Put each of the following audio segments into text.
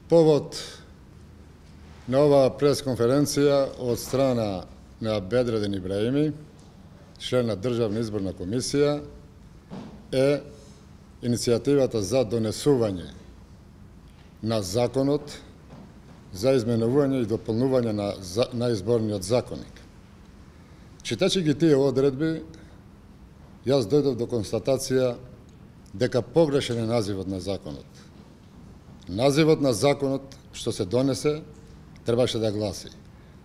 Повод на оваа пресконференција од страна на Бедредин Ибраими, член на Државна изборна комисија, е иницијативата за донесување на законот за изменување и дополнување на изборниот законник. Читачи ги тие одредби, јас дојдов до констатација дека погрешен е називот на законот. Називот на законот што се донесе требаше да гласи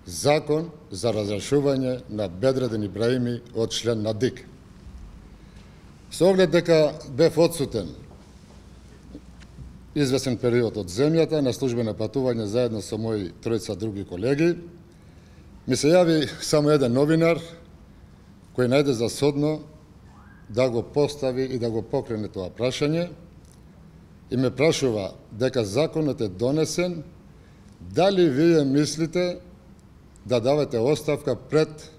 Закон за разрешување на Бедредин Ибраими од член на ДИК. Со оглед дека бев одсутен известен период од земјата на службено патување заедно со мои тројца други колеги, ми се јави само еден новинар кој најде за содно да го постави и да го покрене тоа прашање и ме прашува дека законот е донесен, дали вие мислите да давате оставка пред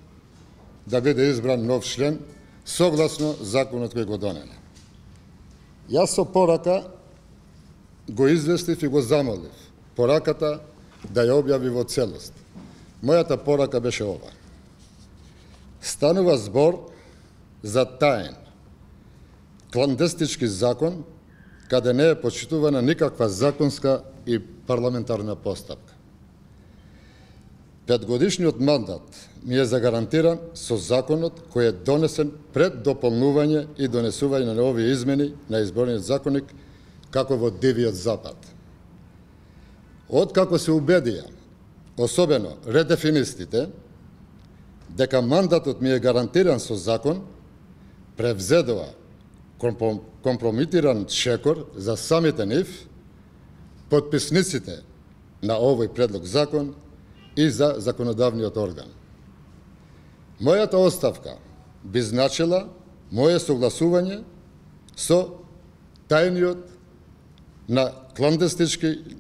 да биде избран нов член согласно законот кој го донене. Јас со порака го известив и го замолив пораката да ја објави во целост. Мојата порака беше ова. Станува збор за таен, кландестички закон, каде не е почитувана никаква законска и парламентарна постапка. Петгодишниот мандат ми е загарантиран со законот кој е донесен пред дополнување и донесување на овие измени на изборниот законник како во Дивиот Запад. Откако се убедија, особено редефинистите, дека мандатот ми е гарантиран со закон, превзедоа компромитиран шекор за самите нив, подписниците на овој предлог закон и за законодавниот орган. Мојата оставка би значила моје согласување со тајниот на кландестички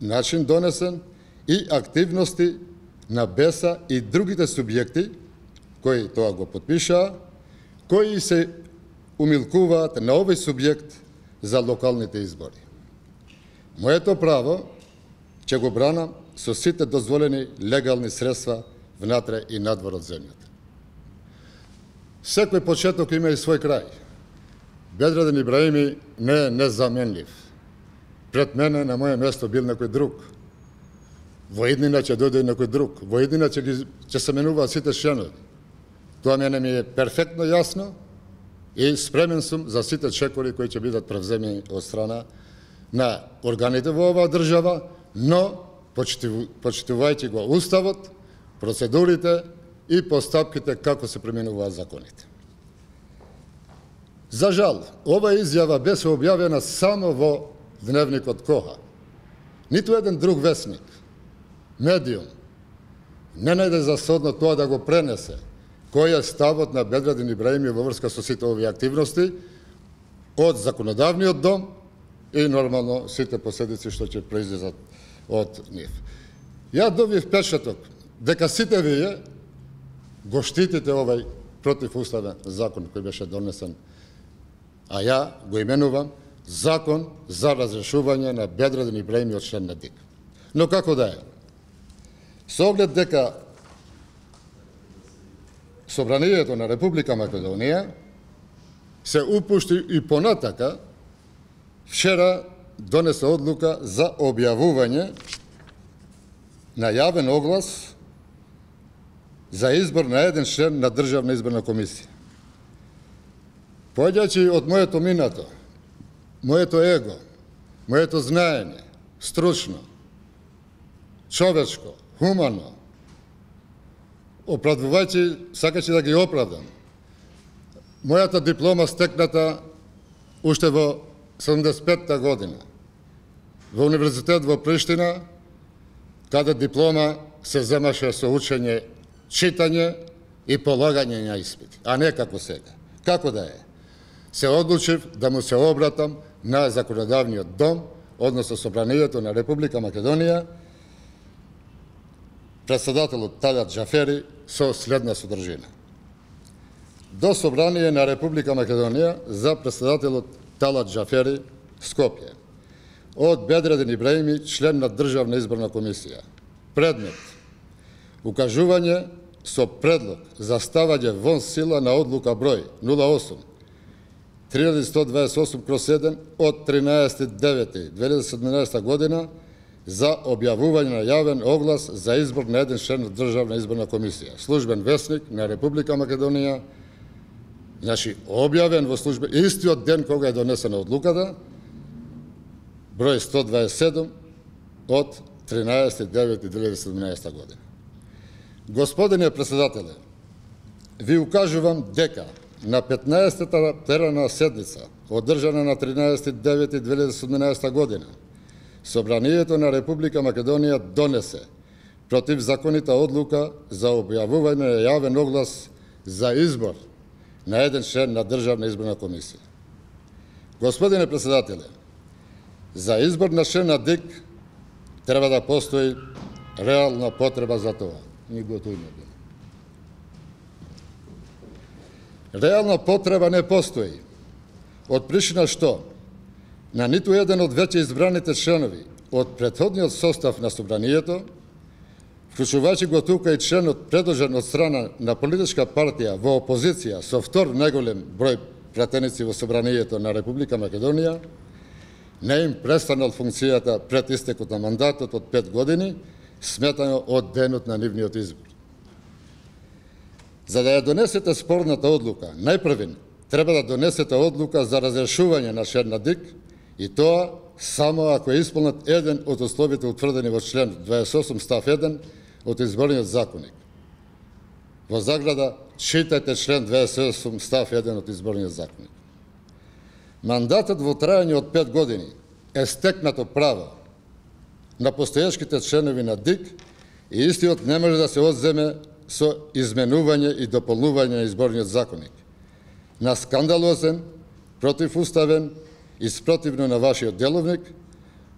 начин донесен и активности на БЕСА и другите субјекти кои тоа го подпишаа, кои се умилкуваат на овој субјект за локалните избори. Моето право ќе го бранам со сите дозволени легални средства внатре и надвор од земјата. Секој почеток има и свој крај. Бедредин Ибраими не е незаменлив. Пред мене на моје место бил некој друг. Во иднина ќе дојде некој друг. Во иднина ќе се менуваат сите членови. Тоа мене ми е перфектно јасно и спремен сум за сите чекори кои ќе бидат превземени од страна на органите во оваа држава, но почитувајќи го уставот, процедурите и постапките како се применуваат законите. За жал, ова изјава беше објавена само во Дневникот Коха. Ниту еден друг весник, медиум, не најде за содно тоа да го пренесе кој е ставот на Бедредин Ибраими во врска со сите овие активности од законодавниот дом и нормално сите последици што ќе произлезат од нив. Ја добив печаток дека сите вие го штитите овај противуставен закон кој беше донесен, а ја го именувам Закон за разрешување на Бедредин Ибраими од член на ДИК. Но како да е? Со оглед дека Собранието на Република Македонија се упушти и понатака, вчера донесе одлука за објавување на јавен оглас за избор на еден член на Државна изборна комисија. Поаѓајќи од моето минато, моето его, моето знаење, стручно, човечко, хумано, оправдувајќи, сакачи да ги оправдам, мојата диплома стекната уште во 75-та година во Универзитет во Приштина, каде диплома се земаше со учење, читање и полагање на испити, а не како сега. Како да е? Се одлучив да му се обратам на законодавниот дом, односно Собранието на Република Македонија, председателот Талат Џафери, со следна содржина. До Собрание на Република Македонија за председателот Талат Џафери, Скопје. од Бедредин Ибраими, член на Државна изборна комисија. Предмет: укажување со предлог за ставање вон сила на одлука број 08-3128/7 од 13.9.2017 година за објавување на јавен оглас за избор на еден член на Државна изборна комисија. Службен весник на Република Македонија, значи објавен во служба истиот ден кога е донесена одлуката, број 127 од 13.9.2017 година. Господине председателе, ви укажувам дека на 15-та пленарна седница, одржана на 13.9.2017 година, Собранието на Република Македонија донесе противзаконита одлука за објавување на јавен оглас за избор на еден член на Државна изборна комисија. Господине председателе, за избор на член на ДИК треба да постои реална потреба за тоа. Реална потреба не постои, од причина што на ниту еден од веќе избраните членови од претходниот состав на Собранието, вклучувајќи го тука и членот предложен од страна на политичка партија во опозиција со втор најголем број пратеници во Собранието на Република Македонија, не им престанал функцијата пред истекот на мандатот од 5 години, сметано од денот на нивниот избор. За да ја донесете спорната одлука, најпрвен треба да донесете одлука за разрешување на член на ДИК, и тоа само ако е исполнет еден од условите утврдени во член 28 став 1 од Изборниот законник. Во заграда читајте член 28 став 1 од Изборниот законник. Мандатот во трајање од 5 години е стекнато право на постојачките членови на ДИК и истиот не може да се одземе со изменување и дополнување на Изборниот законник, на скандалозен, противуставен и спротивно на вашиот деловник,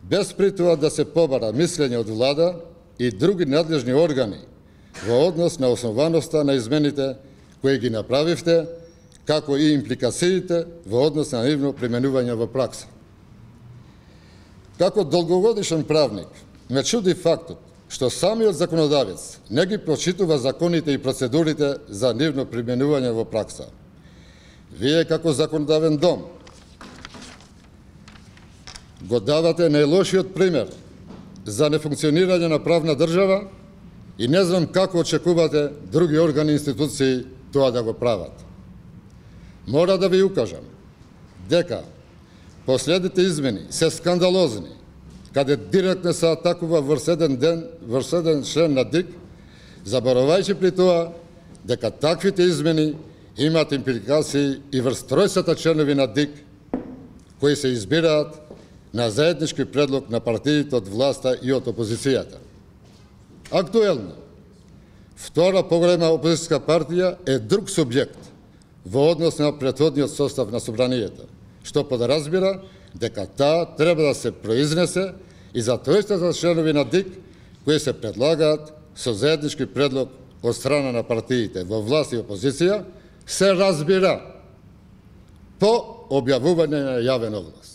без при тоа да се побара мислење од влада и други надлежни органи во однос на основаноста на измените кои ги направивте, како и импликациите во однос на нивно применување во пракса. Како долгогодишен правник, ме чуди фактот што самиот законодавец не ги прочитува законите и процедурите за нивно применување во пракса. Вие како законодавен дом го давате најлошиот пример за нефункционирање на правна држава и не знам како очекувате други органи и институции тоа да го прават. Мора да ви укажам дека последните измени се скандалозни, каде директно се атакува врз еден член на ДИК, заборавајќи при тоа дека таквите измени имаат импликации и врз тројцата членови на ДИК кои се избираат на заеднички предлог на партиите од власта и од опозицијата. Актуелно, втора поголема опозицијска партија е друг субјект во однос на претходниот состав на Собранието, што подразбира дека таа треба да се произнесе и за тројцата членови на ДИК кои се предлагаат со заеднички предлог од страна на партиите во власт и опозиција, се разбира по објавување на јавен оглас.